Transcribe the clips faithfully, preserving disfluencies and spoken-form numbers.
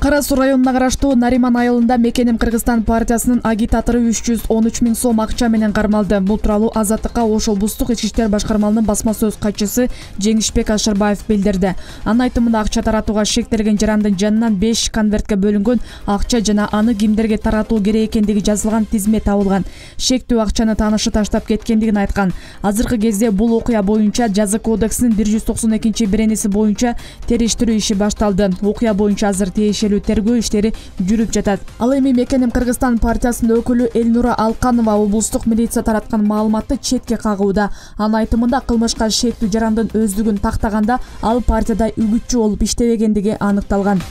Кара Суу районуна караштуу Нариман айылында Мекеним Кыргызстан партиясынын агитатору үч жүз он үч миң сом акча менен кармалды. Бул тууралуу Азаттыкка Ош облустук ички иштер башкармалынын басма сөз катчысы Жеңишбек Ашырбаев билдирди. Анын айтымында акча таратууга шектелген жарандын жанынан беш конвертке бөлүнгөн акча жана аны кимдерге таратуу керек экендиги жазылган тизме табылган. Шектүү акчаны таанышы таштап кеткендигин айткан. Азыркы кезде бул окуя боюнча Жаза кодексинин бир жүз токсон экинчи беренеси боюнча териштирүү иши башталды. Окуя боюнча азыр тиешелүү тергөө иштери жүрүп жатат. Ал эми Мекеним Кыргызстан партиясынын өкүлү Элнура Алканова облустук милиция тараткан маалыматты четке кагууда. Анын айтымында кылмышка шектүү жарандын өздүгүн тактаганда ал партияда үгүтчү болуп иштебегендиги аныкталган.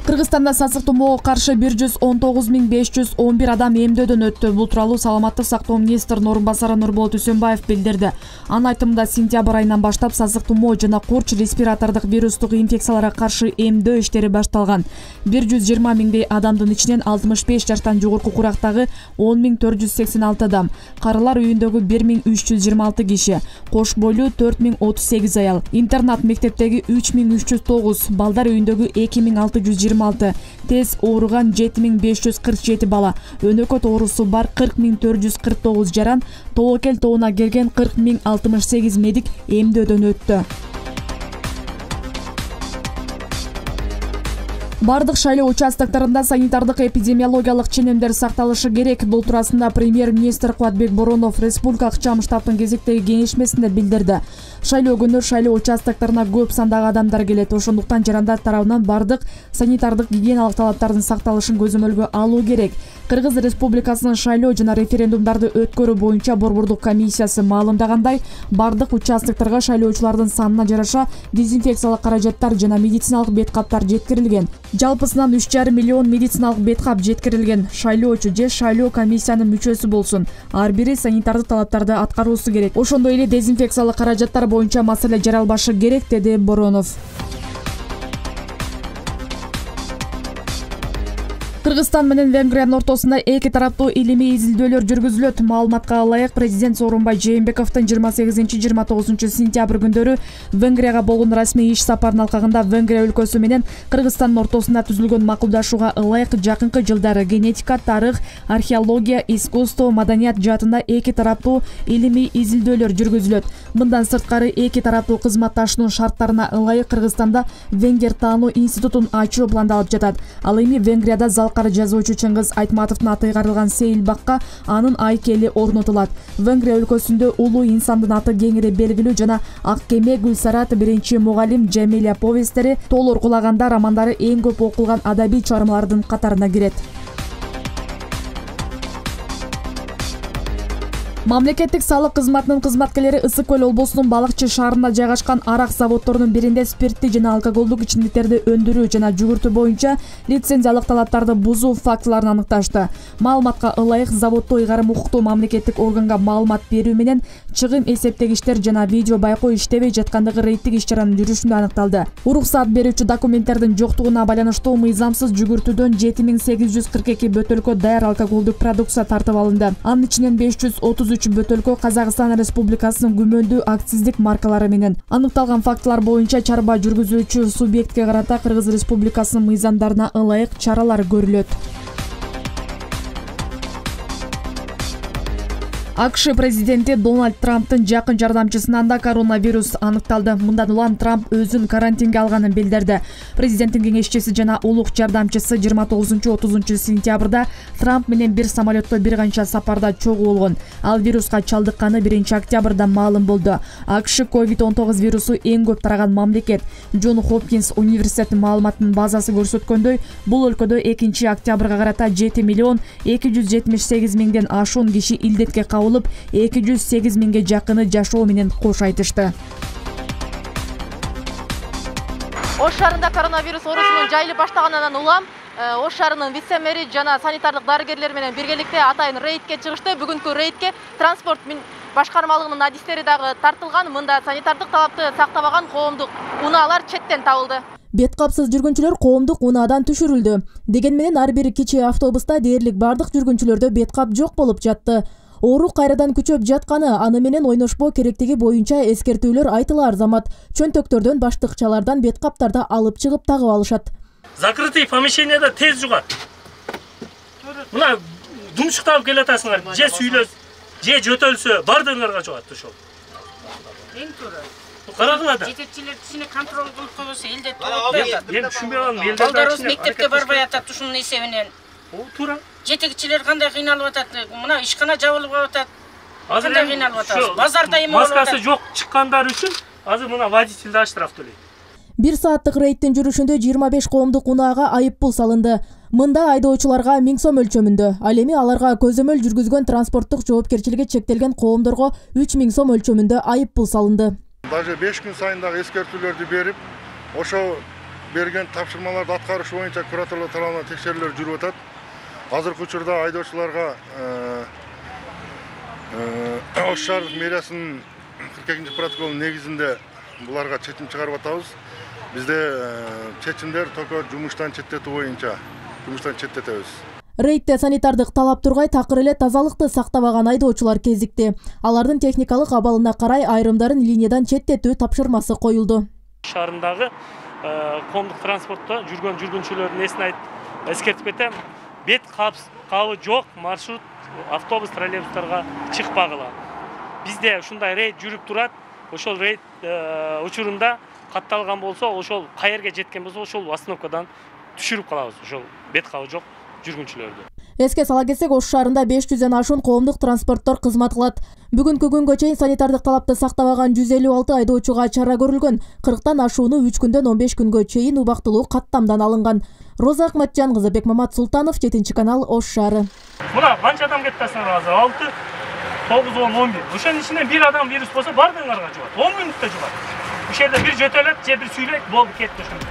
Кыргызстанда сасык тумоого каршы бир жүз он тогуз миң беш жүз он бир адам эмдөөдөн өттү. Бул тууралуу саламаттык сактоо министринин орун басары Нурболот Үсөнбаев билдирди. Анын айтымында сентябрь айынан баштап сасык тумоо жана курч респиратордук вирустук инфекцияларга каршы эмдөө иштери башталган. бир жүз жыйырма миңдей адамдын ичинен алтымыш беш жаштан жогорку курактагы он миң төрт жүз сексен алты адам, карылар үйүндөгү бир миң үч жүз жыйырма алты киши, кош бойлуу төрт миң отуз сегиз аял, интернат мектептеги үч миң үч жүз тогуз, балдар үйүндөгү эки миң алты жүз жыйырма алты, тез ооруган жети миң беш жүз кырк жети бала, өнөкөт оорусу бар кырк миң төрт жүз кырк тогуз жаран, тобокел тобуна келген кырк миң алтымыш сегиз медик эмдөөдөн өттү. Бардык шайлоо участоктарында санитардык эпидемиологиялык ченемдер сакталышы керек. Бул туурасында премьер-министр Кубатбек Боронов республикалык чам штабтын кезектеги кеңешмесинде билдирди. Шайлоо күнү шайлоо участокторуна көп сандагы адамдар келет. Ошондуктан жарандар тарабынан бардык санитардык гигиеналык талаптардын сакталышын көзөмөлгө алуу керек. Кыргыз Республикасынын шайлоо жана референдумдарды өткөрүү боюнча борбордук комиссиясы маалымдагандай, бардык участокторго шайлоочулардын санына жараша дезинфекциялык каражаттар жана медициналык бет каптар жеткирилген. Жалпысынан үч жарым миллион медициналык бет кап жеткирилген. Шайлоочу же шайлоо комиссиянын мүчөсү болсун, ар бири санитардык талаптарды аткаруусу керек. Ошондой эле дезинфекциялык каражаттар боюнча маселе жаралбашы керек, деди Боронов. Кыргызстан менен Венгриянын ортосунда эки тараптуу илимий изилдөөлөр жүргүзүлөт. Маалыматка ылайык, президент Сооронбай Жээнбековдун жыйырма сегизинчи жыйырма тогузунчу сентябрь күндөрү Венгрияга болгон расмий иш сапарынын алкагында Венгрия өлкөсү менен Кыргызстандын ортосунда түзүлгөн макулдашууга ылайык жакынкы жылдары генетика, тарых, археология, искусство, маданият жаатында эки тараптуу илимий изилдөөлөр жүргүзүлөт. Мындан сырткары эки тараптуу кызматташуунун шарттарына ылайык Кыргызстанда Венгер таануу институтун ачуу пландалып жатат. Ал эми Венгрияда залкары жазуучу Чыңгыз Айтматовдун аты ыйгарылган сейил бакка анын айкели орнотулат. Венгрия өлкөсүндө улуу инсандын аты кеңири белгилүү жана Ак кеме, Гүлсарат, Биринчи мугалим, Жамиля повесттери, Тоолор кулаганда романдары эң көп окулган адабий чыгармалардын катарына кирет. Мамлекеттик салык кызматынын кызматкерлери Ысык көл облусунун Балыкчы шаарында жайгашкан арак заводдорунун биринде спирттик жана алкоголдук ичимдиктерди өндүрүү жана жүгүртүү боюнча лицензиялык талаптарды бузуу фактыларын аныкташты. Маалыматка ылайык, заводдо ыйгарым укуктуу мамлекеттик органга маалымат берүү менен чыгым эсептегичтер жана видео байкоо иштебей жаткандыгы рейдтик иш-чаранын жүрүшүндө аныкталды. Уруксаат берүүчү документтердин жоктугуна байланыштуу мыйзамсыз жүгүртүүдөн жети миң сегиз жүз кырк эки бөтөлкө даяр алкоголдук продукция тартып алынды. Анын ичинен беш жүз отуз үч бөтөлкө Казакстан Республикасынын күмөндүү акциздик маркалары менен. Аныкталган фактылар боюнча чарба жүргүзүүчү субъектке карата Кыргыз Республикасынын мыйзамдарына ылайык чаралар көрүлөт. АКШ президенти Дональд Трамптын жакын жардамчысынан да коронавирус аныкталды. Мындан улам Трамп өзүн карантинге алганын билдирди. Президенттин кеңешчиси жана улук жардамчысы жыйырма тогузунчу отузунчу сентябрда Трамп менен бир самолетто бир канча сапарда чогуу болгон. Ал вируска чалдыкканы биринчи октябрда маалым болду. АКШ ковид он тогуз вирусу эң көп тараган мамлекет. Джон Хопкинс университетинин маалыматынын базасы көрсөткөндөй, бул өлкөдө экинчи октябрга карата жети миллион эки жүз жетимиш сегиз миңден ашуун киши илдетке кабыл эки жүз сегиз миңге жакыны жашоо менен кош айтышты. Ош шаарында коронавирус оорусунун жайылып баштаганынан улам Ош шаарынын вице-мэри жана санитардык дарыгерлер менен биргеликте атайын рейдке чыгышты. Бүгүнкү рейдке транспорт башкармалыгынын адистери дагы тартылган. Мында санитардык талапты сактабаган коомдук унаалар четтен табылды. Бет капсыз жүргүнчүлөр коомдук унаадан түшүрүлдү. Дегени менен ар бир кичи автобуста дээрлик бардык жүргүнчүлөрдө бет кап жок болуп жатты. Оору кайрадан күчөп жатканы, аны менен ойношпоо керектиги боюнча эскертүүлөр айтылар замат чөнтөктөрдөн баштыкчалардан бет каптарды алып чыгып тагып алышат. Закрытый помещенияда тез жугат. Мына думчуктап келатасыңар, же сүйлөс, же жөтөлсө бардыгыңарга жугат ошол. Эң туура. Карагыла да. Жетекчилер кишини контроль кылып койбосо элде турат. Мен түшүнбөй калдым. Элде балдарыбыз мектепке барбай атат ушунун эсебинен. О, туура. Жетекчилер кандай кыйналып атат? Мына ишкана жабылып атат. Кандай кыйналып атат? Базарда эме болуп атат. Маскасы жок чыккандар үчүн азыр мына водитель да штраф төлөйт. Бир сааттык рейдтин жүрүшүндө жыйырма беш коомдук унаага айыппул салынды. Мында айдоочуларга миң сом өлчөмүндө, ал эми аларга көзөмөл жүргүзгөн транспорттук жоопкерчилиги чектелген коомдорго үч миң сом өлчөмүндө айыппул салынды. Даже беш күн сайын дагы эскертүүлөрдү берип, ошо берген тапшырмаларды аткарыш боюнча кураторлор тарабынан текшерүүлөр жүрүп атат. Азыркы учурда айдоочуларга Ош шаардык мэриясынын кырк экинчи протоколунун негизинде буларга чечим чыгарып атабыз. Бизде чечимдер только жумуштан четтетүү боюнча жумуштан четтетебиз. Рейдте санитардык талап тургай такыр эле тазалыкты сактабаган айдоочулар кезикти. Алардын техникалык абалына карай айрымдарын линиядан четтетүү тапшырмасы коюлду. Шаарындагы коомдук транспортто жүргөн жүргүнчүлөрдүн эсин айтып эскертип кетем. Бет кабы жок маршрут автобус троллейбустарга чыкпагыла. Бизде ушундай рейд жүрүп турат. Ошол рейд учурунда катталган болсо, ошол каерге жеткен болсо, ошол остановкадан түшүрүп калабыз. Ошол бет кабы жок жүргүнчүлөрдү. Эске сала кетсек, Ош шаарында беш жүздөн ашуун коомдук транспорттор кызмат кылат. Бүгүнкү күнгө чейин санитардык талапты сактабаган жүз элүү алты айдоочуга чара көрүлгөн. кырктан ашууну үч күндөн он беш күнгө чейин убактылуу каттамдан алынган. Роза Акматжан кызы, Бекмамат Султанов, жетинчи канал, Ош шаары. Мына канча адам кетти азыр? алты, тогуз, он, он бир. Ошонун ичинен бир адам вирус болсо бардыгыңарга жугат. он мүнөттө жугат. Ошол жерде бир жөтөлөт, же бир сүйлөйт, болду кетти ошондо.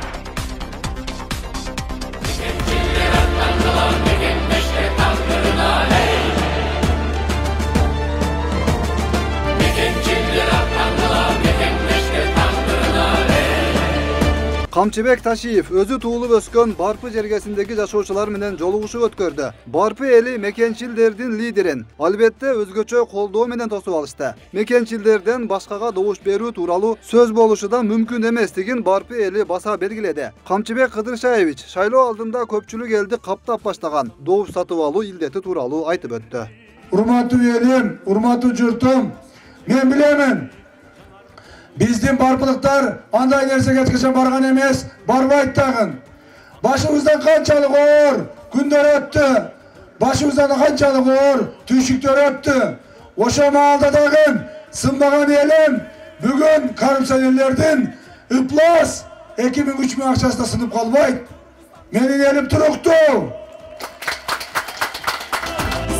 Камчыбек Ташиев өзү туулуп өскөн Барпы жергесиндеги жашоочулар менен жолугушуу өткөрдү. Барпы эли мекенчилдердин лидерин албетте өзгөчө колдоо менен тосуп алышты. Мекенчилдерден башкага добуш берүү тууралуу сөз болушу да мүмкүн эместигин Барпы эли баса белгиледи. Камчыбек Кыдыршаевич шайлоо алдында көпчүлүк элди каптап баштаган добуш сатып алуу илдети тууралуу айтып өттү. Урматтуу элим, урматтуу журтум, мен билемин. Биздин барпылыктар андай нерсеге эткече барган эмес, барбайт дагы. Башыбыздан канчалык оор күндөр өттү. Башыбыздан канчалык оор түйшүктөр өттү. Ошо маалда дагы сынбаган элим бүгүн коррупционерлердин ыплас эки миң үч миң акчасына сынып калбайт. Менин элим туруктуу.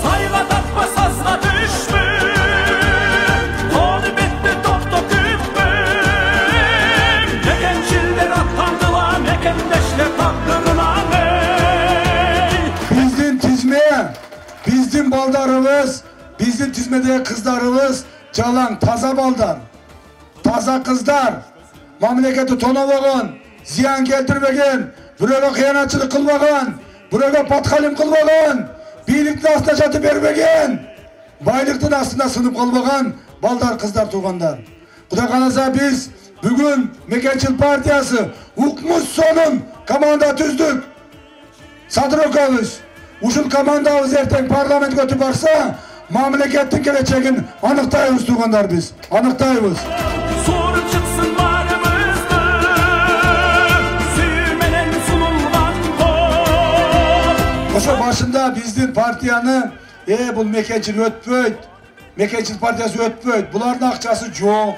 Сайга таппа сазга түшпү. Биздин тизме, биздин балдарыбыз, биздин тизмедеги кыздарыбыз жалаң таза балдар, таза кыздар, мамлекетти тонобогон, зыян келтирбеген, бирөөгө кыянатчылык кылбаган, бирөөгө паткалим кылбаган, бийликтин астына жатып бербеген, байлыктын астына сынып калбаган балдар, кыздар, туугандар. Кудай кааласа биз бүгүн Мекенчил партиясы укмуш сонун команда түздүк. Садырокабыз. Ушул командабыз эртең парламентке өтүп барса, мамлекеттин келечегин аныктайбыз туугандар биз. Аныктайбыз. Соруп чыксын барыбызды. Сүй менен сулулган кол. Ошо башында биздин партияны, э бул Мекенчил өтпөйт. Мекенчил партиясы өтпөйт. Булардын акчасы жок.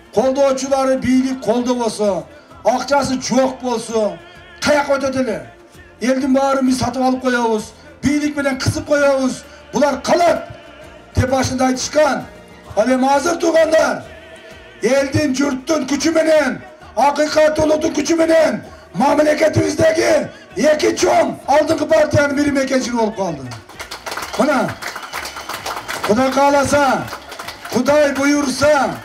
Колдоочулары бийлик колдобосо, акчасы жок болсо, каяка өтөт эле? Элдин баарын биз сатып алып коебуз, бийлик менен кысып коебуз. Булар калат деп башында айтышкан. Ал эми азыр туугандар, элдин, журттун күчү менен, акыйкаттуулуктун күчү менен мамлекетибиздеги эки чоң алдыңкы партиянын бири Мекенчил болуп калды. Мына, Кудай кааласа, Кудай буйрса,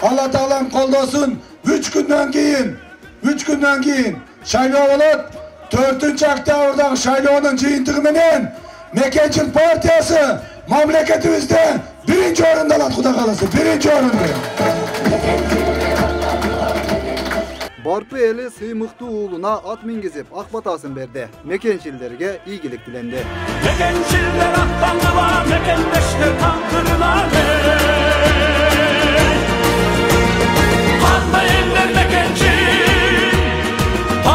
Алла Таалам колдосун, үч күндөн кийин, үч күндөн кийин шайлоо болот. төртүнчү октябрдагы шайлоонун жыйынтыгы менен Мекенчил партиясы мамлекетибизде биринчи орунда алат, Кудай кааласа, биринчи орунда. Барпы эли сыймыктуу уулуна ат мингизип ак батасын берди. Мекенчилдерге ийгилик тиленди. Мекенчилдер аттандыла, мекендештер тандырына. Кандай элдер мекенчил,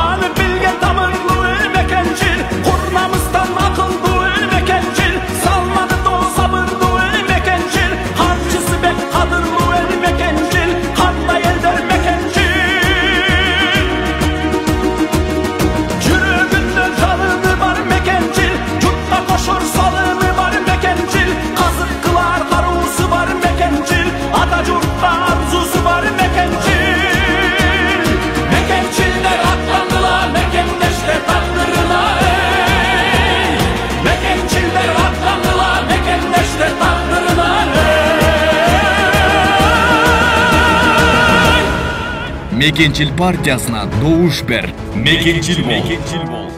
аны билген тамырлуу эл мекенчил, курмамыздан акылдуу эл мекенчил, салмады доо сабырдуу эл мекенчил, карчысы бек кадырлуу эл мекенчил, кандай элдер мекенчил. Salımı var mekencil, kazık kılar karusu var mekencil, ata jurtta arzusu var mekencil. Mekenciller atlandılar, mekendeşler takdırına ey. Mekenciller atlandılar, mekendeşler takdırına ey. Mekençil partiyasına doğuş ber. Mekençil bol.